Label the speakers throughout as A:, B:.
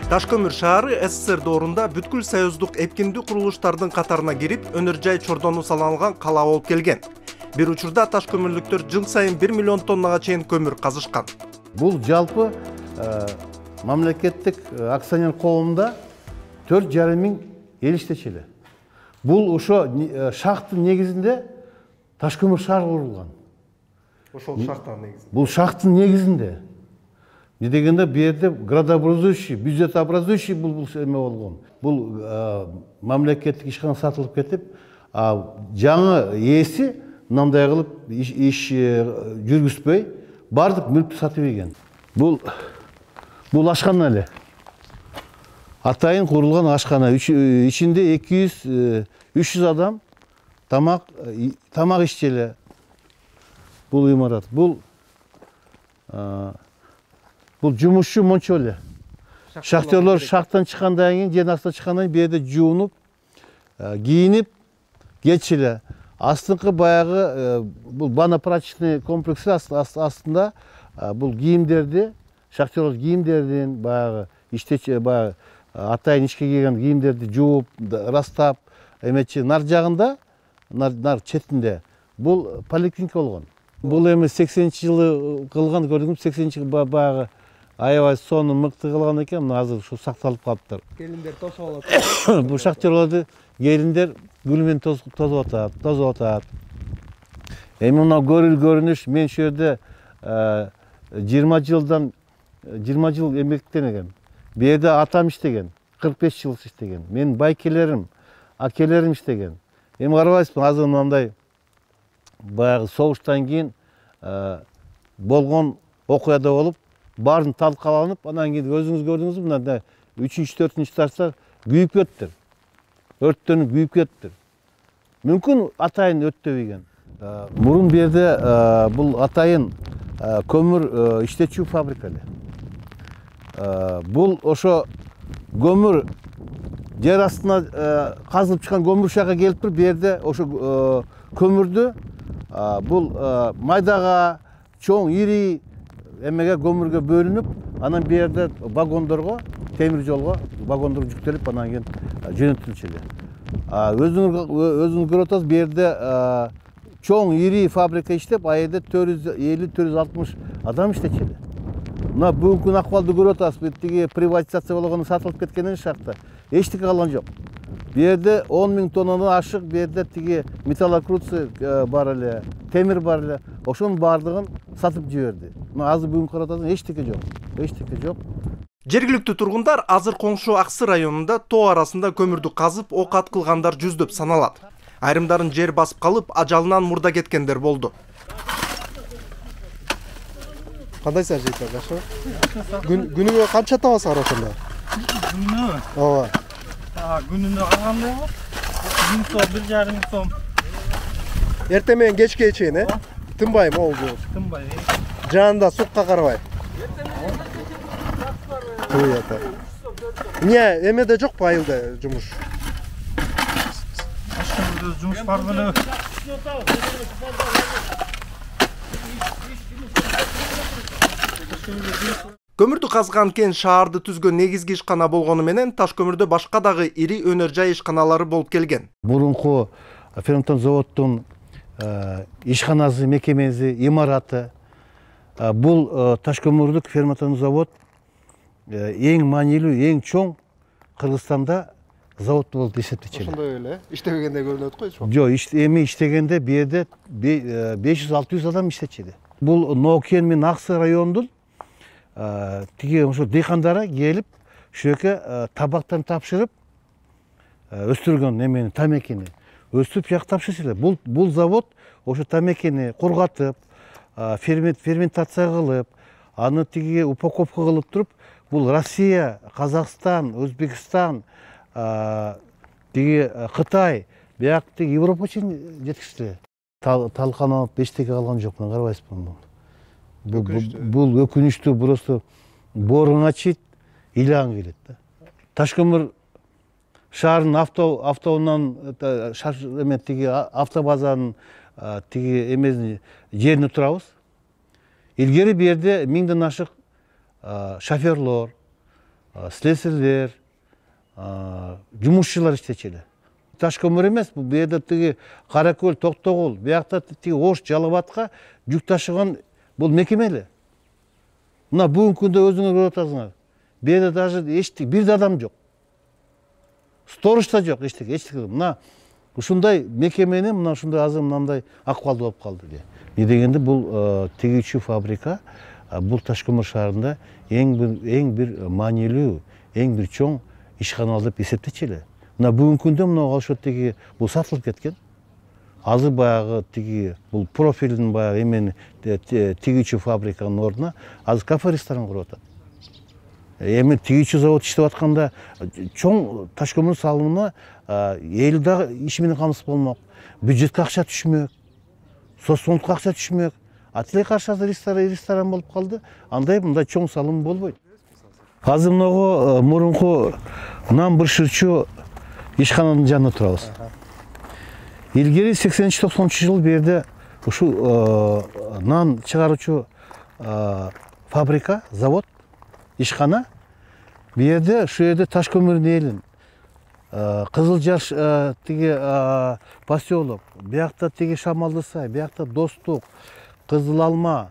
A: Ташкөмүр шаары СССР доорунда бүткүл союздук эпкиндүү курулуштардын катарына кирип, өнөр жай чордону салынган кала болуп келген. Бир учурда ташкөмүрлүктөр жыл сайын 1 миллион тоннага чейин көмүр казышкан.
B: Бул жалпы мамлекеттик акционер коомунда 4,5 миң эл иштечү. Бул ошо шахтын негизинде Ташкөмүр шаар курулган.
A: Ошол шахтанын негизинде.
B: Бул шахтын негизинде. Не дегенде бу жерде градообразующий, бюджетообразующий бул эме болгон. Бул мамлекеттик ишкана сатылып кетип, жаңы ээси мындай кылып иш жүргүзбөй, бардык мүлктү сатып ийген. Бул ашкана эле. Атайын курулган ашкана. Ичинде 200-300 адам тамак иччеле. Бул имарат. Бул жумушчу мончо эле. Шахтерлор шахтан чыккандан кийин, жер астына чыккандан кийин бу жерде жуунуп, кийинип кетчиле. Астыңкы баягы бул банно-прачечный комплекси астында бул кийимдерди, шахтерлор кийимдердин баягы иштечи баягы атайын ишке кийген кийимдерди жууп, ырастап, эметчи нар жагында, нар четинде бул поликлиника болгон. Бул эми 80-жылы кылган, көрдүңүз, 80-жылы баягы аябай соону мыкты кылган экен, мына азыр ушу сакталып калыптыр.
A: Келиндер тосуп алат.
B: Бул шахтерлорду келиндер гүл менен тосуп атат. Эми мына көрүнүш, мен ошол жерде 20 жыл эмгектенген. Бу жерде атам иштеген, 45 жыл иштеген. Менин байкелерим, акелерим иштеген. Эми карабайсызбы, азыр мындай баягы согуштан кийин болгон окуяда болуп, баарын талкаланып, анан кийин өзүңүз көрдүңүзбү, мына 3-4 этаждар күйүп кеттир. Өрттөнүп күйүп кеттир. Мүмкүн атайын өттөбөйген. Мурун бу жерде бул атайын көмүр иштечүү фабрика эле. Бул ошо көмүр жер астына казылып чыккан көмүр ушага келип туруп, бу жерде ошо көмүрдү бул майдага, чоң, ири эмеге көмүргө бөлүнүп, анан бу жерде вагондорго, темир жолго вагондор жүктөлүп, анан кийин жөнөтүлчү. Өзүңүз көрүп атасыз, бу жерде чоң, ири фабрика иштеп, а жерде 450-460 адам иштечү. Мына бүгүнкү акыбалды көрүп атасыз, тиги приватизация болгону сатылып кеткенден шахта эчтеке калган жок. Бу жерде 10 миң тоннадан ашык, бу жерде тиги металлокрутцы бар эле, темир бар эле. Ошонун баардыгын сатып жиберди. Мына азыр бүгүн карап атасыз, эчтеке жок.
A: Жергиликтүү тургундар азыр коңшу Аксы районунда тоо арасында көмүрдү казып, окат кылгандар жүздөп саналат. Айрымдарын жер басып калып, ажалынан мурда кеткендер болду. Кандайсыңар жейтер, жакшыбы? Күнүгө канча табасыңар ошондо?
C: Күнүнө?
A: Ооба.
C: Күнүнө калгандай болот. 1000 сом, 1,5 сом.
A: Эртең менен кечке чейин, тынбай могул.
C: Тынбай.
A: Жанында сукка карабай. Не, эмеде жокпу айылда жумуш?
C: Жумуш бар беле.
A: Көмүрдү казган кен шаарды түзгөн негизги ишкана болгону менен Ташкөмүрдө башка дагы ири өнөр жай ишканалары болуп келген.
B: Мурунку ферментон заводдун ишканасы, мекемеси, имараты. Бул Ташкөмүрдүк ферментон завод эң маанилүү, эң чоң Кыргызстанда завод болуп эсептелет.
A: Ошондой эле, иштебегенде көрүнөт го, эч.
B: Жок, эми иштегенде бу жерде 500-600 адам иштечү. Бул Нокен менен Аксы районунун тиги ошо дыйкандары келип, ошол жерге табактарын тапшырып өстүргөн эмени, тамекини. өстүп жактапчы эле. Бул завод ошо тамекени кургатып, ферментация кылып, аны тиги упаковка кылып туруп, бул Россия, Казакстан, Өзбекстан, тиги Кытай, бияк тиги Европа чейин жеткизди. Талканып бештеге калган жок, мына карабайсызбы? Бул өкүнүчтүү, просто боорун ачыйт, ыйлаң келет да. Ташкөмүр шаарынын автоунан тиги автобазанын тиги эмесин жерине турабыз. Илгери бу жерде 1000ден ашык шоферлор, слесарьлер, жумушчулар иштечү эле. Ташкөмүр эмес, бул жерде тиги Каракөл, Токтогул, биякта тиги Ош, Жалал Абадка жүк ташыган бул мекеме эле. Мына бүгүнкү күндө өзүңөр көрүп атасыңар. Бу жерде даже бир да адам жок. Сторож да жок, эчтеке. Мына ушундай мекемени мына ушундай азыр мындай акыбалда болуп калды. Эмне дегенде бул тигүүчү фабрика бул Ташкөмүр шаарында эң бир маанилүү, эң бир чоң ишканал деп эсептечү эле. Мына бүгүнкү күндө мына ошо тиги бул сатылып кеткен. Азыр баягы тиги бул профилдин баягы эмени тигүүчү фабриканын ордуна азыр кафе-ресторан куруп атат. Эми тигүүчү завод иштеп атканда чоң Ташкөмүр салымына эл дагы иш менен камсыз болмок, бюджетке акча түшмөк, соцфондко акча түшмөк. Тилей каршы азыр ресторан болуп калды. Андай мындай чоң салым болбойт. Азыр мынагу мурунку нан бышырчу ишкананын жанында турабыз. Илгери 80-90 жыл бу жерде ушул нан чыгаруучу фабрика, завод, ишкана. Бу жерде ушу жерде Ташкөмүрдүн элин, Кызыл Жаш тиги поселок, биякта тиги Шамалды сай, биякта Достук, Кызыл Алма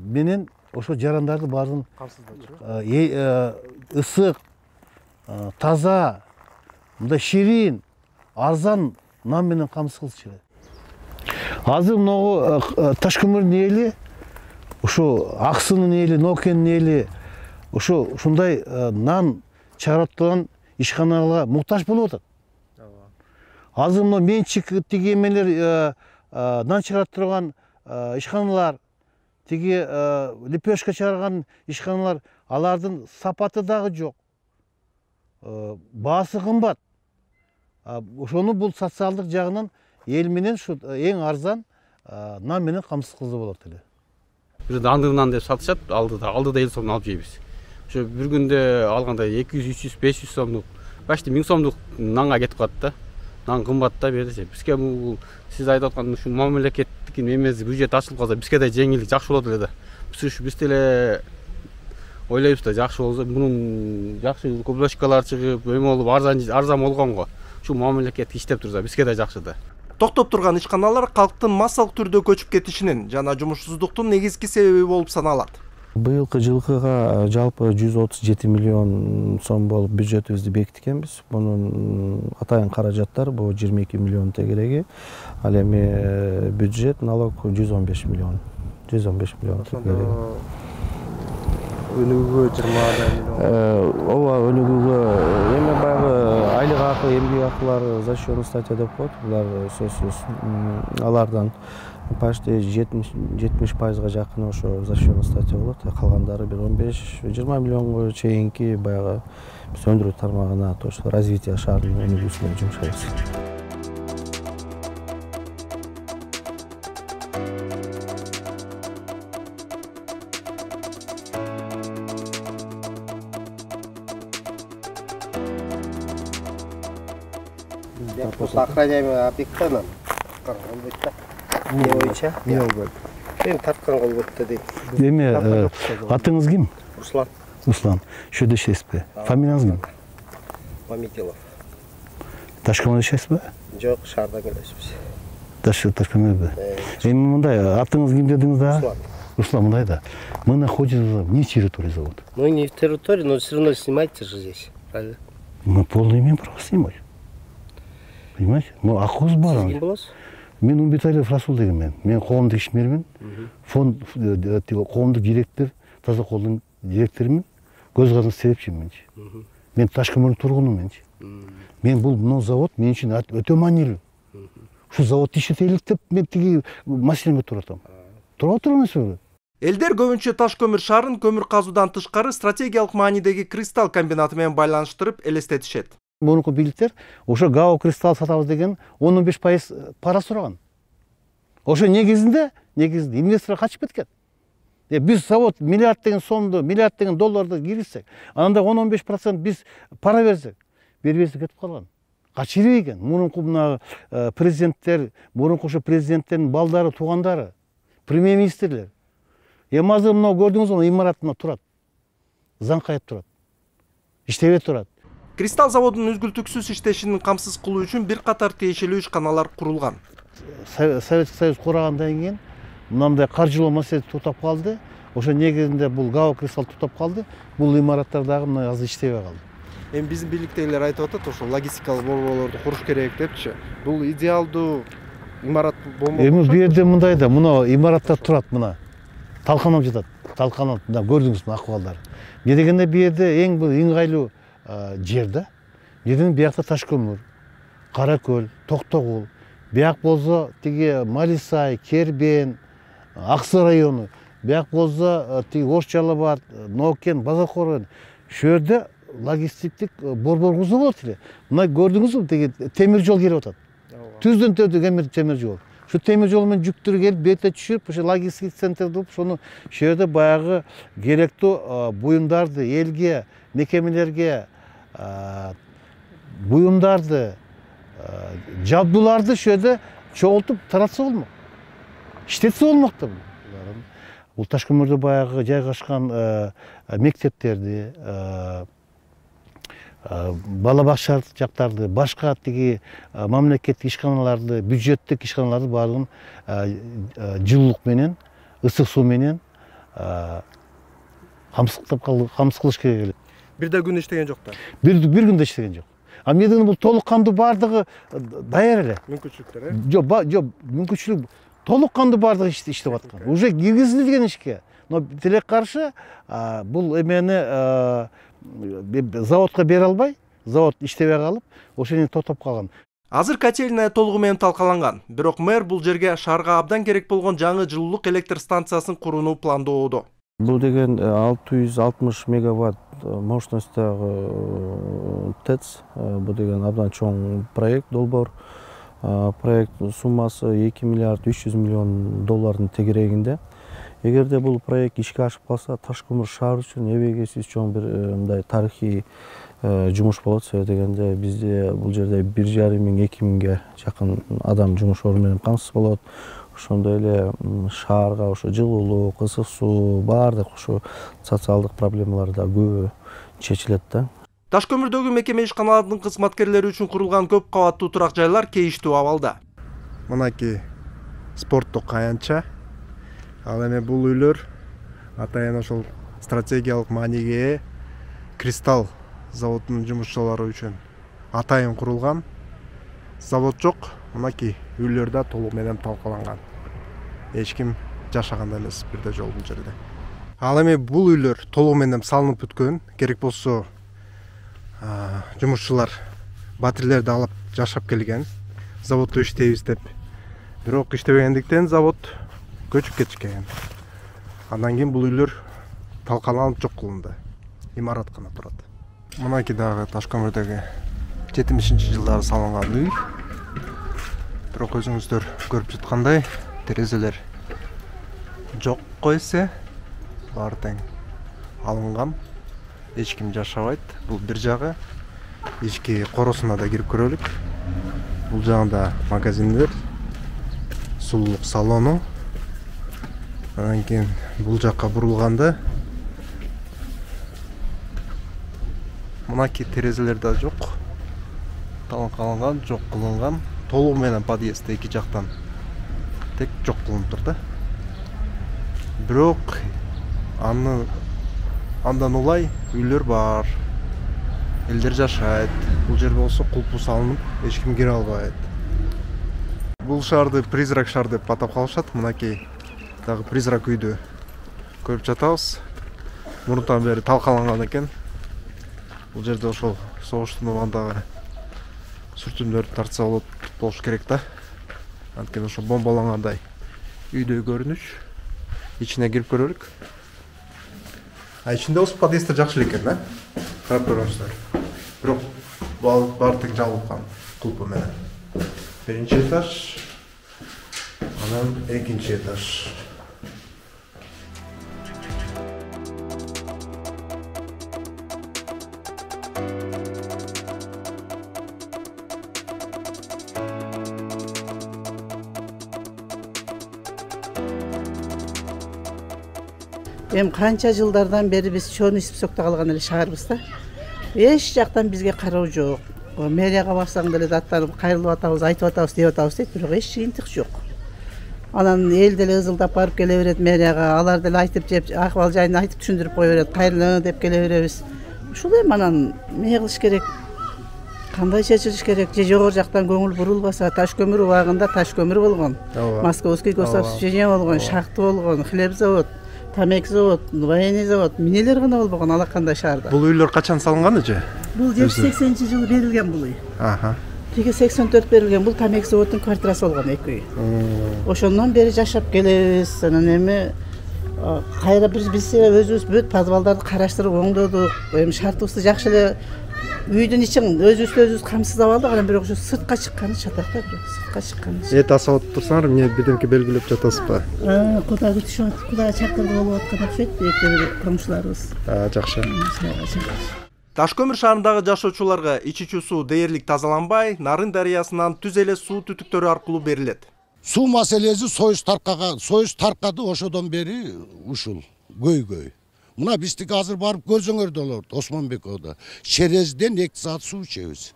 B: менен ошо жарандарды баарын ысык, таза, мындай ширин, арзан нан менен камсыз кылчу эле. Азыр могу Ташкөмүрдүн эли, ушу Аксынын эли, Нокенин эли ушундай нан чыгарып турган ишканаларга муктаж болуп атат. Азыр мына менчик тиги эмелер нан чыгарып турган ишканалар, тиги лепешка чыгарган ишканалар, алардын сапаты дагы жок. Баасы кымбат. Ошону бул социалдык жагынан эл менен ушу эң арзан нан менен камсыз кылса болот эле.
D: Бизде андыр нан деп сатышат, алдыда эл сомдон алып жейбиз. Ошо бир күндө алганда 200, 300, 500 сомдук, башты 1000 сомдук нанга кетип калат да. Нан кымбат да берсе. Бизге бул сиз айтып аткан ушу мамлекеттик эмеси бюджет ачылып калса, бизге да жеңилдик жакшы болот эле да. Биз деле ойлойбуз да, жакшы болсо, мунун жакшы коблочкалар чыгып, эме болуп арзан болгонго, ушу мамлекет иштеп турса, бизге да жакшы да.
A: Токтоп турган ишканалар калктын массалык түрдө көчүп кетишинин жана жумушсуздуктун негизги себеби болуп саналат.
E: Быйылкы жылкыга жалпы 137 миллион сом болуп бюджетибизди бекиткенбиз. Мунун атайын каражаттар бул 22 миллион тегереги, ал эми бюджет налог 115 миллион. 115 миллион тегереги.
C: Өнүгүүгө 20 миллион.
E: Ооба, өнүгүүгө эми баягы айлык акы, эмгек акылар защётный статья деп коет. Булар сөзсүз алардан почти 70% жакын ошо защётный статья болот. Калгандары бир 15-20 миллионго чейинки баягы биз өндүрүү тармагына, то есть развитие шаардын өнүгүүсүнө жумшайбыз.
F: Охраняемый объектанан болбойт да. Не боюнча? Не болбойт. Мен тарткан болбойт да дейт.
B: Эми атыңыз ким?
F: Руслан.
B: Руслан. Ошо жерде иштейсизби? Фамилияңыз ким?
F: Мамитилов.
B: Ташкөмүрдө иштейсизби?
F: Жок, шаардан келебиз.
B: Ташкөмүрдө. Эми мындай, атыңыз ким дедиңиз да?
F: Руслан.
B: Руслан, мындай да. Мы находимся вне территории завода.
F: Ну не в территории, но все равно снимайте же здесь, правильно?
B: Мы полное имеем право снимать. Понимаете? Ну, акыбыз бар.
F: Сиз ким болосуз?
B: Мен Умбеталиев Расул деген мен коомдук ишмермин. Фонд коомдук директор, таза колдун директорумун. Көз каранды себепчиминчи. Мен Ташкөмүрдүн тургунумунчи. Мен бул завод мен үчүн өтө маанилүү. Ушу завод иштетелик деп мен тиги маселеме туруп атам. Туруп отур эмеспи?
A: Элдер көбүнчө таш көмүр шаарын көмүр казуудан тышкары стратегиялык маанидеги Кристалл комбинаты менен байланыштырып элестетишет.
B: Мурунку бийликтер ошо ГАО Кристалл сатабыз деген 15% пара сураган. Ошо негизинде инвестор качып кеткен. Биз завод миллиард деген сомду, миллиард деген долларды киргизсек, анда 10-15% биз пара берсек, бербестик кетип калган. Качып экен. Мурунку мына президенттер, мурунку ошо президенттердин балдары, туугандары, премьер-министрлер. Эми азыр мына көрдүңүзбү, имаратында турат. Заңкайып турат. Иштебей турат.
A: Кристалл заводунун үзгүлтүксүз иштешин камсыз кылуу үчүн бир катар тиешелүү ишканалар курулган.
B: Советский Союз курагандан кийин мындай каржылоо маселеси туктап калды. Ошо негизинде бул ГАО Кристалл туктап калды. Бул имараттар дагы мына азыр иштебей калды.
A: Эми биздин бийликтегилер айтып атат, ошо логистикалык борборлорду куруш керек депчи. Бул идеалдуу имарат болмок.
B: Эми бу жерде мындай да, мына имараттар турат, мына талканып жатат. Талканып, мына көрдүңүзбү акыбалдары. Эмне дегенде бу жерде эң бул ыңгайлуу жер да. Бирден биякта таш көмүр, Каракөл, Токтогул, бияк болсо тиги Малисай, Кербен, Аксы району, бияк болсо тиги Ош Жалал Абад, Нокен, Базаркор. Шу жерде логистиктик борбор курса болот эле. Мына көрдүңүзбү, тиги темир жол келип атат. Түздөн төдө темир жол. Шу темир жол менен жүктөр келип, бете түшүп, ошо логистик центрди куруп, ошону шу жерде баягы керектүү буюмдарды элге, мекемелерге буюмдарды, жабдууларды шу жерде чогултуп таратса болмок. Иштетсе болмок да. Бул таш көмүрдө баягы жайгашкан мектептерди, бала бакча жактарды, башка тиги мамлекеттик ишканаларды, бюджеттик ишканаларды баардыгын жылуулук менен, ысык суу менен камсыз кылыш керек эле.
A: Бир да күн иштеген жок да.
B: Бир күндө иштеген жок. А менден бул толук кандуу баардыгы даяр эле.
A: Мүмкүнчүлүктөр,
B: Жок, мүмкүнчүлүк толук кандуу баардыгы иштеп аткан. Уже киргизилген ишке. Но тилек каршы бул эмени заводко бере албай, завод иштебей калып, ошону токтоп калган.
A: Азыр котельная толугу менен талкаланган. Бирок мэр бул жерге шаарга абдан керек болгон жаңы жылуулук электр станциясын курууну пландоодо.
E: Бул деген 660 мегаватт мощностьтагы ТЭЦ. Бул деген абдан чоң проект, долбоор. Проект суммасы 2 миллиард 300 миллион доллардын тегерегинде. Эгерде бул проект ишке ашып калса, таш көмүр шаар үчүн эбегейсиз чоң бир мындай тарыхый жумуш болот. Себеби дегенде бизде бул жерде 1,5–2 миңге жакын адам жумуш орду менен камсыз болот. Ошондой эле шаарга ошо жылуулук, ысык суу, баардык ошо социалдык проблемалар да көбү чечилет да.
A: Таш көмүрдөгү мекеме ишканалардын кызматкерлери үчүн курулган көп кабаттуу турак жайлар кейиштүү абалда. Мынакей спорттук аянтча. Ал эми бул үйлөр атайын ошол стратегиялык мааниге ээ Кристалл заводунун жумушчулары үчүн атайын курулган. Завод жок, мынакей үйлөр да толук менен талкаланган. Эч ким жашаган эмес бирде жол бул жерде. Ал эми бул үйлөр толук менен салынып бүткөн. Керек болсо жумушчулар батирлерди алып жашап келген. Заводдо иштейбиз деп. Бирок иштебегендиктен завод көчүп кетишкен. Андан кийин бул үйлөр талкаланып жок кылынды. Имарат гана турат. Мынакей дагы таш көмүрдөгү 70-жылдары салынган үй. Бирок өзүңүздөр көрүп жаткандай, терезелер жок койсе, баары тең алынган. Эч ким жашабайт. Бул бир жагы. Ички коросуна да кирип көрөлүк. Бул жагында магазиндер, сулуулук салону. Андан кийин бул жакка бурулганда мынакей терезелер да жок. Талкаланган, жок кылынган. Толугу менен подъезд эки жактан тек жок кылынып тур да. Бирок андан улай үйлөр бар. Элдер жашайт. Бул жер болсо кулпу салынып, эч ким кире албайт. Бул шаарды призрак шаар деп атап калышат. Мынакей дагы призрак үйдү көрүп жатабыз. Мурунтан бери талкаланган экен. Бул жерде ошол согуштун убагындагы сүртүмдөрдү тартса болот болуш керек да. Анткени ошо бомбалангандай үйдөй көрүнүш. Ичине кирип көрөлүк. Ичинде болсо подъездер жакшы эле экен, карап көрүңүздөр. Бирок баары тең жабылган кулпу менен. Биринчи этаж, анан экинчи этаж.
G: Эми канча жылдардан бери биз чоң списокто калган эле шаарбыз да. Эч жактан бизге кароо жок. Мэрияга барсаң деле даттанып кайрылып атабыз, айтып атабыз, деп атабыз дейт, бирок эч жыйынтык жок. Анан эл деле ызылдап барып келе берет мэрияга, алар деле айтып жеп, акыбал жайын айтып түшүндүрүп кое берет, кайрылы деп келе беребиз. Ушул эми анан эмне кылыш керек? Кандай чечилиш керек? Же жогору жактан көңүл бурулбаса, таш көмүр убагында таш көмүр болгон, Московский гособщежение болгон, шахта болгон, хлеб завод, тамек завод, военный завод, эмнелер гана болбогон алакандай шаарда.
A: Бул үйлөр качан салынган эже?
G: Бул 80-жылы берилген бул үй. Тиги 84 берилген, бул тамек заводдун квартирасы болгон эки үй. Ошондон бери жашап келебиз. Анан эми кайра биз өзүбүз бүт подвалдарды караштырып оңдодук. Эми шартыбызды жакшы эле үйдүн ичин өзүбүз камсыздап алдык. Анан бирок ушу сыртка чыкканы чатак да, бирок сыртка чыкканы.
A: Эт асап турсаңар, эмне бирдемке белгилеп жатасызбы?
G: Кудай күтүшүп атат, Кудай чакырды болуп аткан окшойт, экөө комшуларыбыз.
A: Жакшы. Таш көмүр шаарындагы жашоочуларга ичүүчү суу дээрлик тазаланбай, Нарын дарыясынан түз эле суу түтүктөрү аркылуу берилет.
H: Суу маселеси Союз таркады ошодон бери ушул көйгөй. Мына биздики азыр барып көрсөңөр Осмонбековдо Черезден 2 саат суу ичебиз.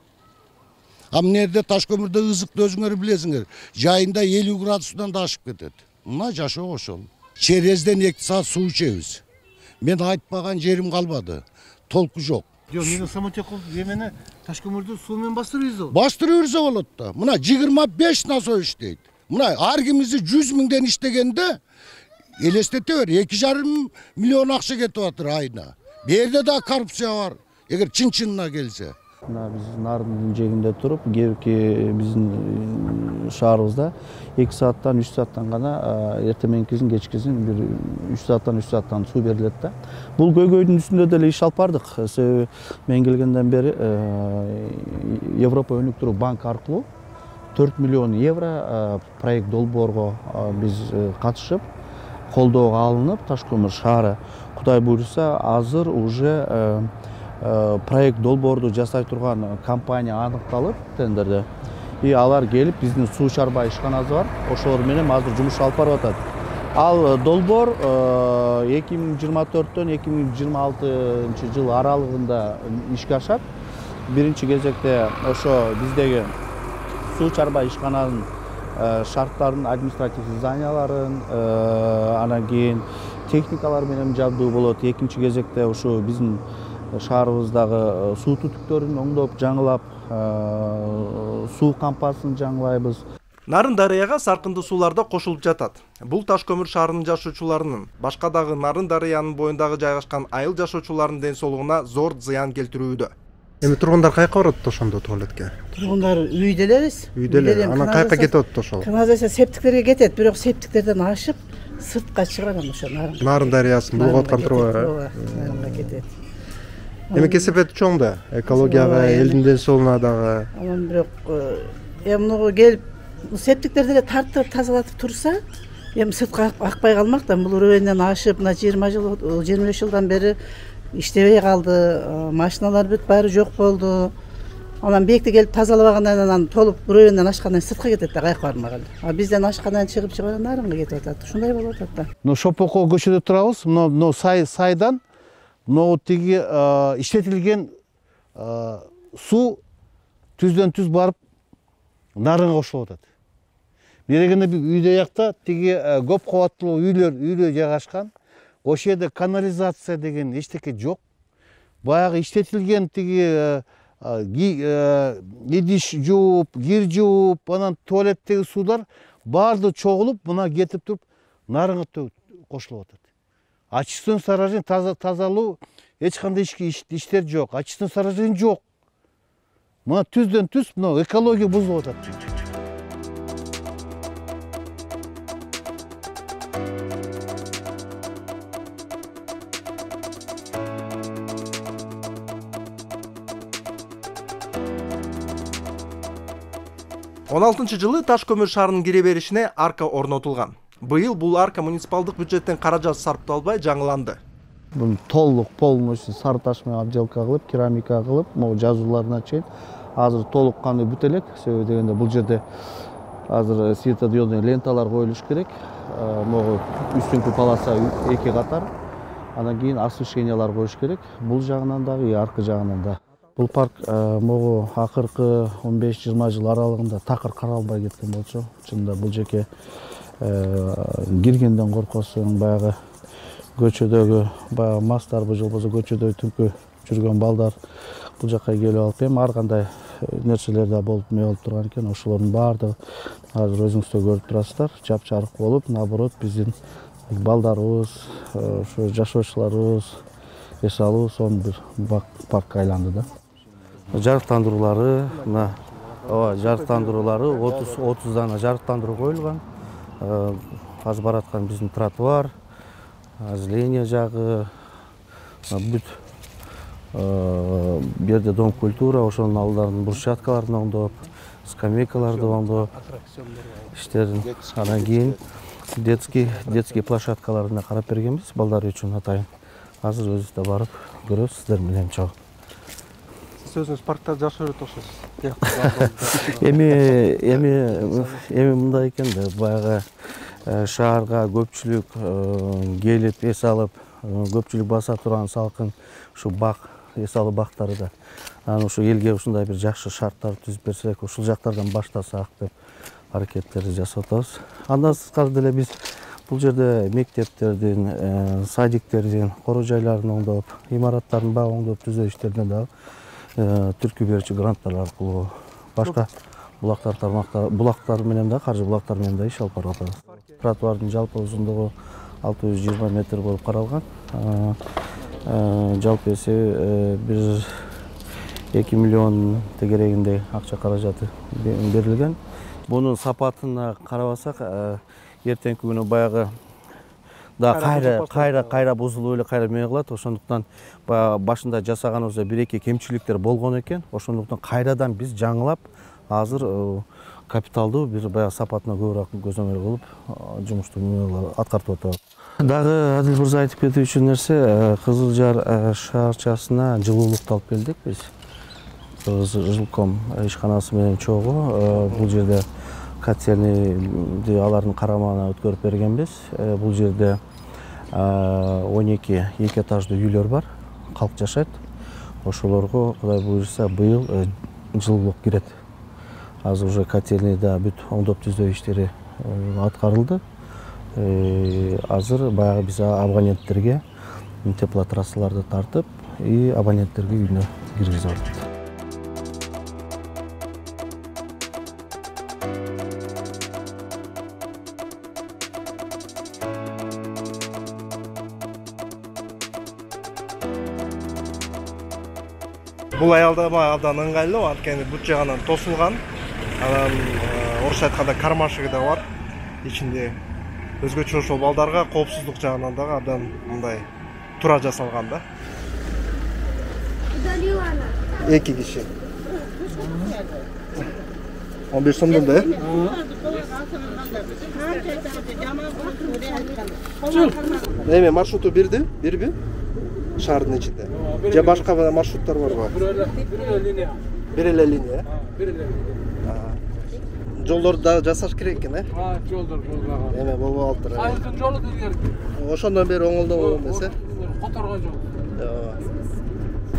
H: А мынерде таш көмүрдө ызыкты өзүңөр билесиңер, жайында 50 градустан да ашып кетет. Мына жашоо ошол. Черезден 2 саат суу ичебиз. Мен айтпаган жерим калбады. Толку жок.
B: Жок, мен самотеков эмени таш көмүрдү суу менен бастырып ийзе болот.
H: Бастырып ийзе болот да. Мына 25 насой иштейт. Мына ар кимизи 100 миңден иштегенде элестете бер, 2,5 миллион акча кетип атыр айына. Бу жерде да коррупция бар. Эгер чын-чынына келсе.
E: Мына биз Нардын жегинде туруп, кээки биздин шаарыбызда 2 сааттан 3 сааттан гана эртең менкисин, кечкисин бир 3 сааттан суу берилет да. Бул көйгөйдүн үстүндө деле иш алып бардык. Себеби мен келгенден бери Европа өнүктүрүү банк аркылуу 4 миллион евро проект долбоорго биз катышып, колдоого алынып, Таш көмүр шаары Кудай буйруса азыр уже проект долбоорду жасай турган компания аныкталып тендерде. И алар келип биздин суу чарбай ишканасы бар. Ошолор менен азыр жумуш алып барып атат. Ал долбоор 2024-төн 2026 жыл аралыгында ишке ашат. Биринчи кезекте ошо биздеги суу чарбай ишкананын шарттарын, административдик зданияларын, анан кийин техникалар менен жабдуу болот. Экинчи кезекте ошо биздин шаарыбыздагы суу түтүктөрүн оңдоп, жаңылап, суу кампасын жаңылайбыз.
A: Нарын дарыяга саркынды сууларда кошулуп жатат. Бул Таш көмүр шаарынын жашоочуларынын, башка дагы Нарын дарыянын боюндагы жайгашкан айыл жашоочуларынын ден соолугуна зор зыян келтирүүдө. Эми тургундар кайка барат ошондо туалетке?
G: Тургундар үйдө элебиз.
A: Үйдө эле. Анан кайка кетип атат ошол?
G: Канализация септиктерге кетет, бирок септиктерден ашып сыртка чыгат ошо
A: Нарын дарыясын булуп аткан труба.
G: Нарынга кетет.
A: Эми кесепети чоң да, экологияга, элдин ден соолугуна дагы.
G: Анан бирок муну келип септиктерди эле тартып тазалатып турса, эми сыртка акпай калмак да. Бул уровеньден ашып, мына 20 жыл, 25 жылдан бери иштебей калды. Машиналар бүт баары жок болду. Анан бекти келип тазалабагандан анан толуп уровеньден ашкандан сыртка кетет да, кайка бармаган. А бизден ашкандан чыгып нарынга кетип атат. Ушундай болуп атат да.
B: Шопоко көчөдө турабыз. Мына сайдан но тиги иштетилген суу түздөн түз барып нарынга кошулуп атат. Берегенде үйдө жакта тиги көп кабаттуу үйлөр жайгашкан. Ошол жерде канализация деген эчтеке жок. Баягы иштетилген тиги идиш жууп, кир жууп, анан туалеттеги суулар баардыгы чогулуп, мына кетип туруп нарынга кошулуп атат. Очистной сооружение тазалоо эч кандай иштер жок. Очистной сооружение жок. Мына түздөн түз мына экология бузулуп атат.
A: 16-жылы Таш көмүр шаарынын кире беришине арка орнотулган. Быйыл бул арка муниципалдык бюджеттен каражат сарпталбай жаңыланды.
B: Бул толук полностью сары таш менен обделка кылып, керамика кылып, могу жазууларына чейин азыр толук кандуу бүтө элек. Себеби дегенде бул жерде азыр светодиодный ленталар коюлуш керек. Могу үстүңкү полоса 2 катар. Андан кийин освещениялар коюш керек. Бул жагынан дагы, аркы жагынан да. Бул парк могу акыркы 15-20 жыл аралыгында такыр каралбай кеткен болчу. Чынында бул жеке киргенден коркосуң, баягы көчөдөгү баягы мастар, же болбосо көчөдө түнкү жүргөн балдар бул жакка келип алып эми ар кандай нерселер да болуп турган экен. Ошолордун баардыгы азыр өзүңүздөр көрүп турасыздар, жапжарык болуп, наоборот биздин балдарыбыз, ошо жашоочуларыбыз эс алуу сонун бир паркка айланды да. Жарыктандыруулары, мына жарыктандыруулары 30 дана жарыктандыруу коюлган. Азыр бараткан биздин тротуар, озеление жагы, бүт берде дом культура, ошонун алдарын брусчаткаларын оңдоп, скамейкаларды оңдоп иштерин. Андан кийин детский площадкаларына карап бергенбиз балдар үчүн атайын. Азыр өзүбүз да барып көрөбүз сиздер менен чогуу.
A: Сиз өзүңүз паркта жашап жүрөт окшойсуз.
E: Эми мындай экен да, баягы шаарга көпчүлүк келип эс алып, көпчүлүк баса турган салкын ушу бак, эс алуу бактары да. Анан ушу элге ушундай бир жакшы шарттар түзүп берсек, ушул жактардан баштасак деп аракеттерди жасап атабыз. Андан сырткары деле биз бул жерде мектептердин, садиктердин, кора жайларын оңдоп, имараттардын баарын оңдоп түзөө иштерине дагы түркү берүүчү гранттар аркылуу башка булактар менен да, каржы булактар менен да иш алып барып атабыз. Тротуардын жалпы узундугу 620 метр болуп каралган. Жалпы эсеби 2 миллион тегерегиндей акча каражаты берилген. Бунун сапатына карабасак, эртеңки күнү баягы да кайра бузулуп эле кайра эме кылат. Ошондуктан башында жасаганыбызда 1-2 кемчиликтер болгон экен. Ошондуктан кайрадан биз жаңылап, азыр капиталдуу бир баягы сапатына көбүрөөк көзөмөл кылып жумушту аткартып атабыз. Дагы Адил мырза айтып кетүүчү нерсе, Кызыл Жар шаарчасына жылуулукту алып келдик биз. Жилком ишканасы менен чогуу бул жерде котельныйды алардын карамагына өткөрүп бергенбиз. Бул жерде 12 2 этаждуу үйлөр бар, калк жашайт. Ошолорго Кудай буйруса быйыл жылуулук кирет. Азыр уже котельныйда бүт оңдоп түзөө иштери аткарылды. Азыр баягы биз абоненттерге теплотрассаларды тартып, абоненттерге үйүнө киргизип атабыз.
A: Бул аялдама абдан ыңгайлуу, анткени бут жагынан тосулган. Анан орусча айтканда кармашыгы да бар. Ичинде өзгөчө ошол балдарга коопсуздук жагынан дагы абдан мындай туура жасалган да. 2 киши. 15 сомдон да, Эме маршруту бирби? Шаардын ичинде. Же башка маршруттар барбы? Бир эле линия. Жолдорду да жасаш керек экен,
I: Жолдор болбаган.
A: Эме болбоп атыр.
I: Айылдын жолу дилгерки.
A: Ошондон бери оңолдоо эмесе?
I: Которгон жол.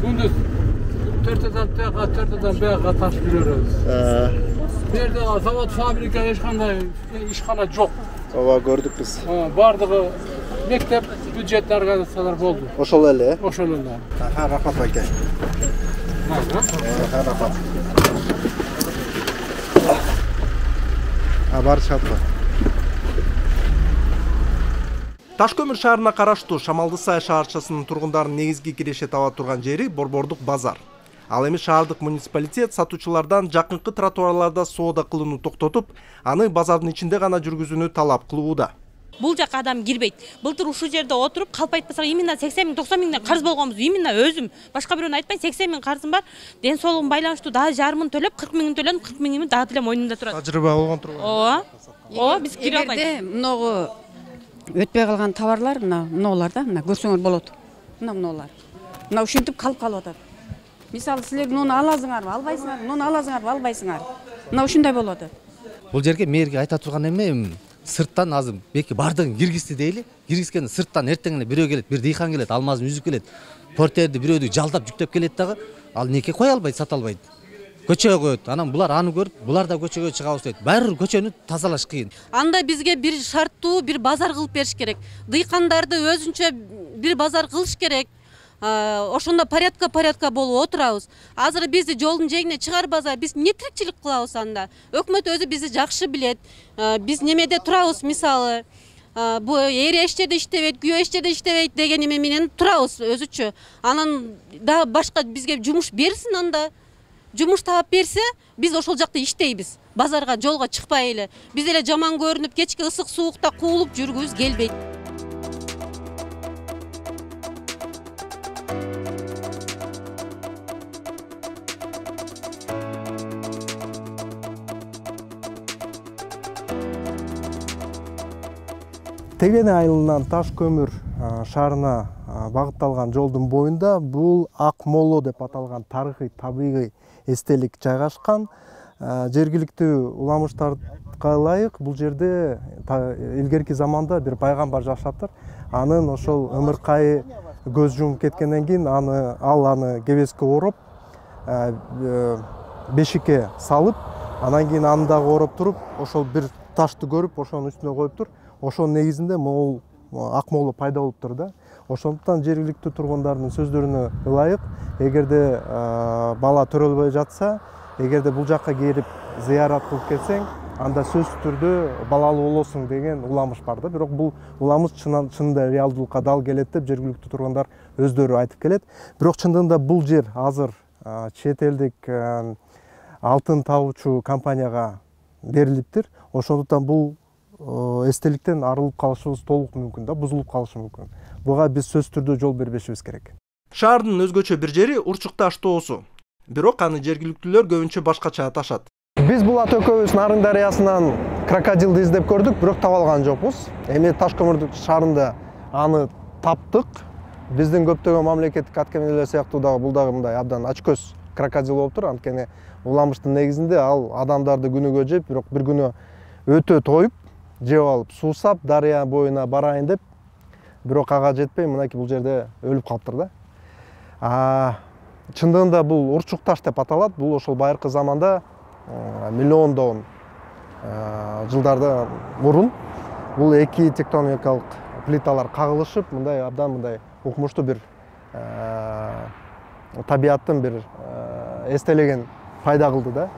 I: Күндүз 4-дөн тияка, 4-дөн бияка таш жүрөбүз. Бу жерде завод, фабрика эч кандай ишкана жок.
A: Ооба, көрдүк биз.
I: Бардыгы мектеп, бюджет организациялар болду.
A: Ошол эле?
I: Ошол эле.
A: Рахмат байке. Рахмат. Барышат. Таш көмүр шаарына караштуу Шамалды Сай шаарчасынын тургундарынын негизги киреше таба турган жери Борбордук базар. Ал эми шаардык муниципалитет сатуучулардан жакынкы тротуарларда соода кылууну токтотуп, аны базардын ичинде гана жүргүзүүнү талап кылууда.
J: Бул жака адам кирбейт. Былтыр ушул жерде отуруп калп айтпасак именно 80 000 90 000 карыз болгонбуз. Именно өзүм башка бирөөнү айтпайм, 80 000 карызым бар. Ден соолугум байланыштуу дагы жарымын төлөп 40 000 төлөдүм, 40 000 дагы деле мойнумда турат.
A: Тажрыйба болгон турган.
J: Ооба, биз кире албайбыз.
K: Эгерде мыногу өтпөй калган товарлар мынаулар да, мына көрсөңөр болот. Мынаулар. Мына ушинтип калып атат. Мисалы силер муну аласыңарбы, албайсыңарбы, муну аласыңарбы, албайсыңар. Мына ушундай болуп атат.
L: Бул жерге мэрге айта турган эме сырттан азыр беки бардыгын киргизди дейли. Киргизгенде сырттан эртең эле бирөө келет, бир дыйкан келет, алмазын үзүп келет. Портерди бирөөдү жалдап жүктөп келет дагы, ал неке кое албайт, сата албайт. Көчөгө коет. Анан булар аны көрүп, булар да көчөгө чыгабыз дейт. Баары көчөнү тазалаш кыйын.
M: Анда бизге бир шарттуу бир базар кылып бериш керек. Дыйкандарды өзүнчө бир базар кылыш керек. Ошондо порядка болуп отурабыз. Азыр бизди жолдун жээгине чыгарбаса, биз эмне тирикчилик кылабыз анда? Өкмөт өзү бизди жакшы билет. Биз немеде турабыз, мисалы, бу эре иштерде иштебейт, күйөө иштерде иштебейт деген эме менен турабыз өзүчө. Анан дагы башка бизге жумуш берсин анда. Жумуш таап берсе, биз ошол жакта иштейбиз. Базарга, жолго чыкпай эле. Биз эле жаман көрүнүп, кечки ысык суукта куулуп жүргүбүз келбейт.
A: Тегене айылынан Таш көмүр шаарына багытталган жолдун боюнда бул Акмоло деп аталган тарыхый табигый эстелик жайгашкан. Жергиликтүү уламыштарга ылайык бул жерде илгерки заманда бир пайгамбар жашаптыр. Анын ошол ымыркайы көз жумуп кеткенден кийин ал аны кебеске ороп, бешикке салып, анан кийин аны дагы ороп туруп, ошол бир ташты көрүп, ошонун үстүнө коюптур. Ошонун негизинде могул Акмоло пайда болуптур да. Ошондуктан жергиликтүү тургундардын сөздөрүнө ылайык, эгерде бала төрөлбөй жатса, эгерде бул жакка келип зыярат кылып кетсең, анда сөзсүз түрдө балалуу болосуң деген уламыш бар да. Бирок бул уламыш чынында реалдуулукка дал келет деп жергиликтүү тургундар өздөрү айтып келет. Бирок чындыгында бул жер азыр чет элдик алтын табуучу компанияга берилиптир. Ошондуктан бул эстеликтен арылып калышыбыз толук мүмкүн да, бузулуп калышы мүмкүн. Буга биз сөзсүз түрдө жол бербешибиз керек. Шаардын өзгөчө бир жери Урчукташ тоосу. Бирок аны жергиликтүүлөр көбүнчө башкача аташат. Биз Булат экөөбүз Нарын дарыясынан крокодилди издеп көрдүк, бирок таба алган жокпуз. Эми Таш көмүр шаарында аны таптык. Биздин көптөгөн мамлекеттик аткаминелер сыяктуу дагы бул дагы мындай абдан ачкөз крокодил болуптур. Анткени уламыштын негизинде ал адамдарды күнүгө жеп, бирок бир күнү өтө тоюп, жеп алып суусап, дарыя боюна барайын деп, бирок ага жетпей, мынакей бул жерде өлүп калыптыр да. Чындыгында бул Урчукташ деп аталат. Бул ошол байыркы заманда миллиондон жылдарда мурун бул эки тектоникалык плиталар кагылышып, мындай абдан мындай укмуштуу бир табияттын бир эстелеген пайда кылды да.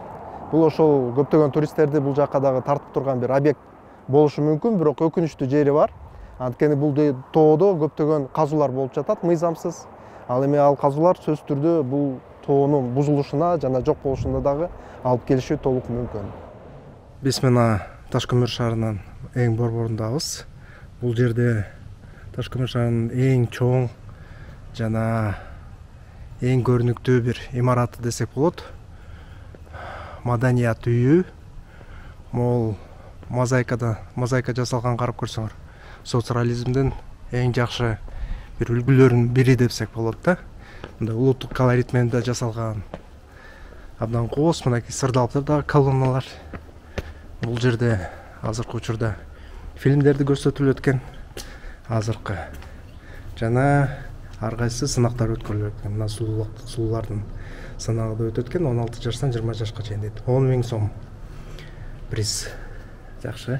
A: Бул ошол көптөгөн туристтерди бул жакка дагы тартып турган бир объект болушу мүмкүн, бирок өкүнүчтүү жери бар. Анткени бул тоодо көптөгөн казуулар болуп жатат мыйзамсыз. Ал эми ал казуулар сөзсүз түрдө бул тоонун бузулушуна жана жок болушуна дагы алып келиши толук мүмкүн. Биз мына Таш көмүр шаарынын эң борборундабыз. Бул жерде Таш көмүр шаарынын эң чоң жана эң көрүнүктүү бир имараты десек болот. Маданият үйү. Могул мозаика жасалган, карап көрсөңөр. Социализмдин эң жакшы бир үлгүлөрүнүн бири десек болот да. Мындай улуттук колорит менен да жасалган. Абдан кооз, мынакей сырдалып да колонналар. Бул жерде азыркы учурда фильмдерди көрсөтүлүп өткөн. Азыркы жана ар кайсы сынактар өткөрүлүп өткөн. Мына суулардын сынагы да өтүп өткөн. 16 жаштан 20 жашка чейин дейт. 10 000 сом приз. Жакшы.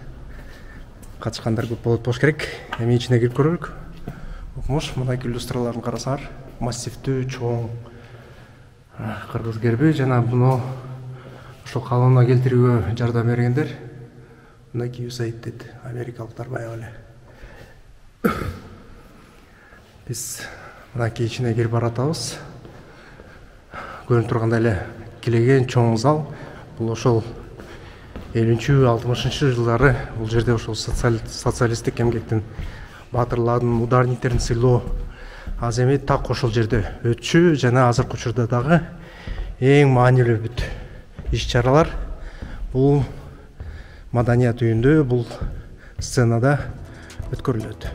A: Катышкандар көп болот болуш керек. Эми ичине кирип көрөлүк. Укмуш, мынакей иллюстраларын карасаңар, массивдүү, чоң кыргыз герби жана буну ошол колонна келтирүүгө жардам бергендер мынакей USAID дейт, америкалыктар баягы эле. Биз мынакей ичине кирип баратабыз. Көрүнүп тургандай эле килеген чоң зал. Бул ошол 50-60 жылдары бул жерде ошол социалисттик эмгектин баатырлардын ударниктерин сыйлоо аземи так ошол жерде өтчү жана азыркы учурда дагы эң маанилүү бүт иш-чаралар бул маданият үйүндө, бул сценада өткөрүлөт.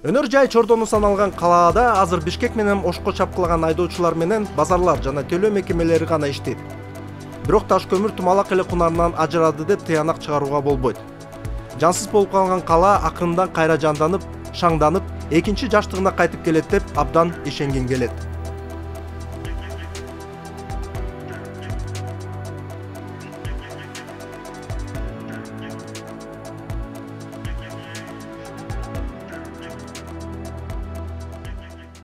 A: Өнөр жай чордону саналган калаада азыр Бишкек менен Ошко чапкылаган айдоочулар менен базарлар жана төлөө мекемелери гана иштейт. Бирок таш көмүр тумалак эле кунарынан ажырады деп тыянак чыгарууга болбойт. Жансыз болуп калган кала акырындан кайра жанданып, шаңданып, экинчи жаштыгына кайтып келет деп абдан ишенген келет.